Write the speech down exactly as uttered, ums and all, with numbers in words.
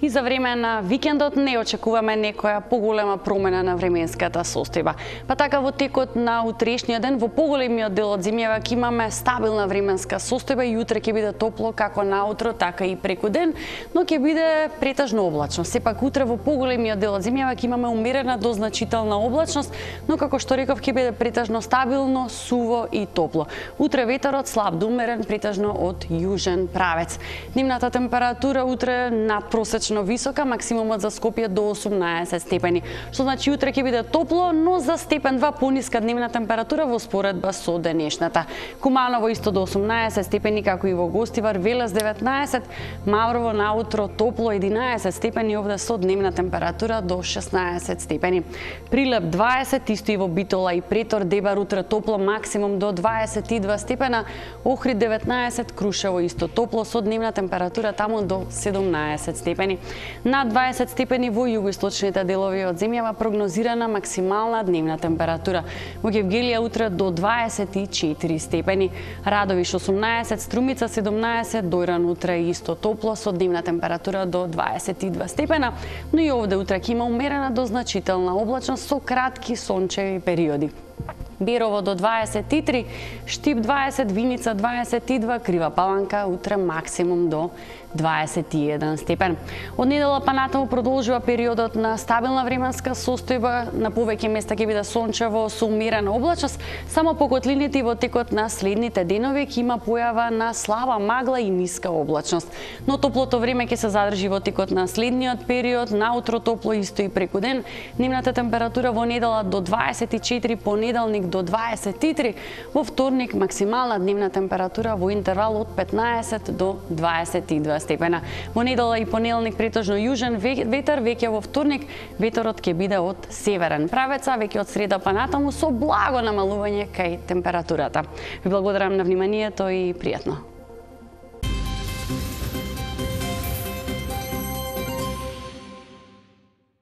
И за време на викендот не очекуваме некоја поголема промена на временската состојба. Па така во текот на утрешниот ден во поголемиот дел од земјава ќе имаме стабилна временска состојба и утре ќе биде топло како наутро, така и преку ден, но ќе биде претежно облачно. Сепак утре во поголемиот дел од земјава ќе имаме умерена до значителна облачност, но како што реков ќе биде претежно стабилно, суво и топло. Утре ветерот слаб до умерен, претежно од јужен правец. Дневната температура утре надпросечно висока, максимумот за Скопје до осумнаесет степени, што значи утре ќе биде топло, но за степен два пониска дневна температура во споредба со денешната. Куманово исто до осумнаесет степени, како и во Гостивар, Велес деветнаесет, Маврово наутро топло единаесет степени, овде со дневна температура до шеснаесет степени. Прилеп дваесет, исто и во Битола и Претор, Дебар утре топло, максимум до дваесет и два степена, Охрид деветнаесет, Крушево исто топло со дневна температура таму до седумнаесет степени. На дваесет степени во југоисточните делови од земјава прогнозирана максимална дневна температура. Во Гевгелија утре до дваесет и четири степени. Радовиш осумнаесет, Струмица седумнаесет, Дојран утре исто топло со дневна температура до дваесет и два степена, но и овде утре ќе има умерена до значителна облачност со кратки сончеви периоди. Берово до дваесет и три, Штип дваесет, Виница дваесет и два, Крива Паланка утре максимум до дваесет и еден степен. Од недела па натаму продолжува периодот на стабилна временска состојба, на повеќе места ќе биде сончево со умерена облачност, само по котлините и во текот на следните денови ќе има појава на слаба магла и ниска облачност. Но топлото време ќе се задржи во текот на следниот период, наутро топло исто и преку ден. Дневната температура во недела до дваесет и четири, понеделник до дваесет и три, во вторник максимална дневна температура во интервал од петнаесет до дваесет и два степена. Во недела и понеделник претежно јужен ветер, веќе во вторник ветерот ќе биде од северен правец, а веќе од среда па натаму со благо намалување кај температурата. Ви благодарам на вниманието и пријатно.